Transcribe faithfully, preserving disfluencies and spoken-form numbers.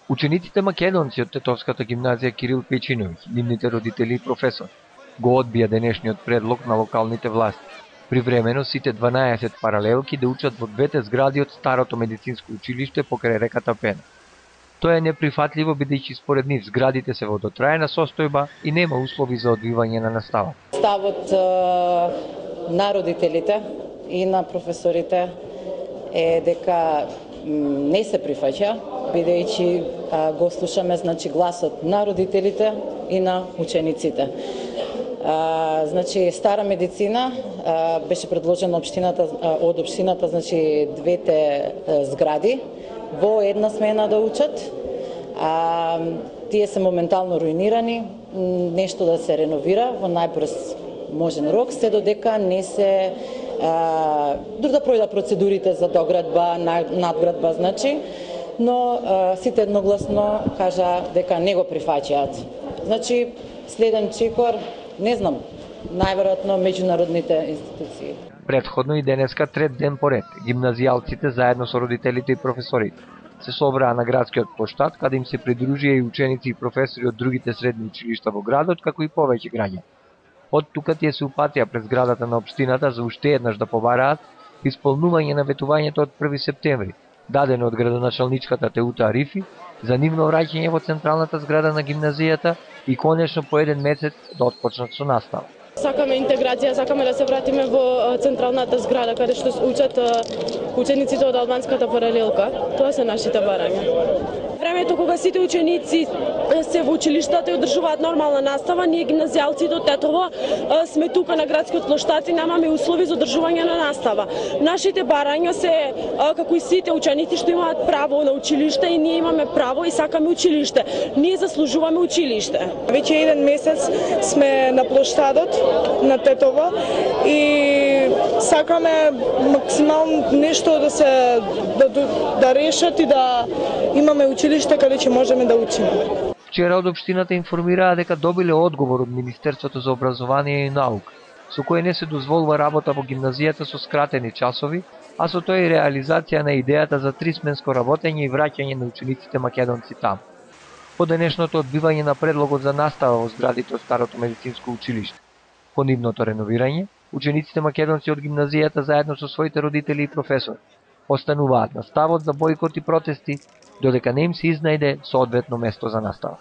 Учениците македонци од Тетовската гимназија Кирил Пејчиновиќ, нивните родители и професор, го одбија денешниот предлог на локалните власти, привремено сите дванаесет паралелки да учат во двете згради од старото медицинско училиште покрај реката Пена. Тоа е неприфатливо бидејќи според нив зградите се во дотраена состојба и нема услови за одвивање на настава. Ставот на родителите и на професорите е дека не се прифаќа, бидејќи го слушаме значи гласот на родителите и на учениците. А, значи стара медицина а, беше предложена општината од општината, значи двете а, згради во една смена да учат. А, тие се моментално руинирани, нешто да се реновира во најбрз можен рок, се додека не се дур да пројдат процедурите за доградба, надградба, значи, но а, сите едногласно кажа дека не го прифаќаат. Значи, следен чекор, не знам, најверојатно меѓународните институции. Претходно и денеска трет ден поред, гимназијалците заедно со родителите и професорите се собраа на градскиот плоштад, каде им се придружија и ученици и професори од другите средни училишта во градот, како и повеќе граѓани. Од тука тие се упатија пред зградата на општината за уште еднаш да побараат исполнување на ветувањето од први септември, дадено од градоначалничката Теута Арифи, за нивно враќање во централната зграда на гимназијата и конечно по еден месец да отпочнат со настава. Сакаме интеграција, сакаме да се вратиме во централната зграда каде што учат учениците од албанската паралелка. Тоа се нашите барања. Времето кога сите ученици се во училиштата и одржуваат нормална настава, ние гимназијалците од Тетово сме тука на градскиот плоштад и немаме услови за одржување на настава. Нашите барања се како и сите ученици што имаат право на училиште и ние имаме право и сакаме училиште. Ние заслужуваме училиште. Веќе еден месец сме на плоштадот на Тетово и сакаме максимално нешто да се да, да решат и да имаме училиште каде ќе можеме да учиме. Вчера од општината информираа дека добиле одговор од Министерството за образование и наука, со кој не се дозволува работа во гимназијата со скратени часови, а со тоа и реализација на идејата за трисменско работење и враќање на учениците македонци таму. По денешното одбивање на предлогот за настава во зградите од старото медицинско училиште, по нивното реновирање, учениците македонци од гимназијата заедно со своите родители и професори остануваат на ставот за бојкот и протести, додека не им се изнајде соодветно место за настава.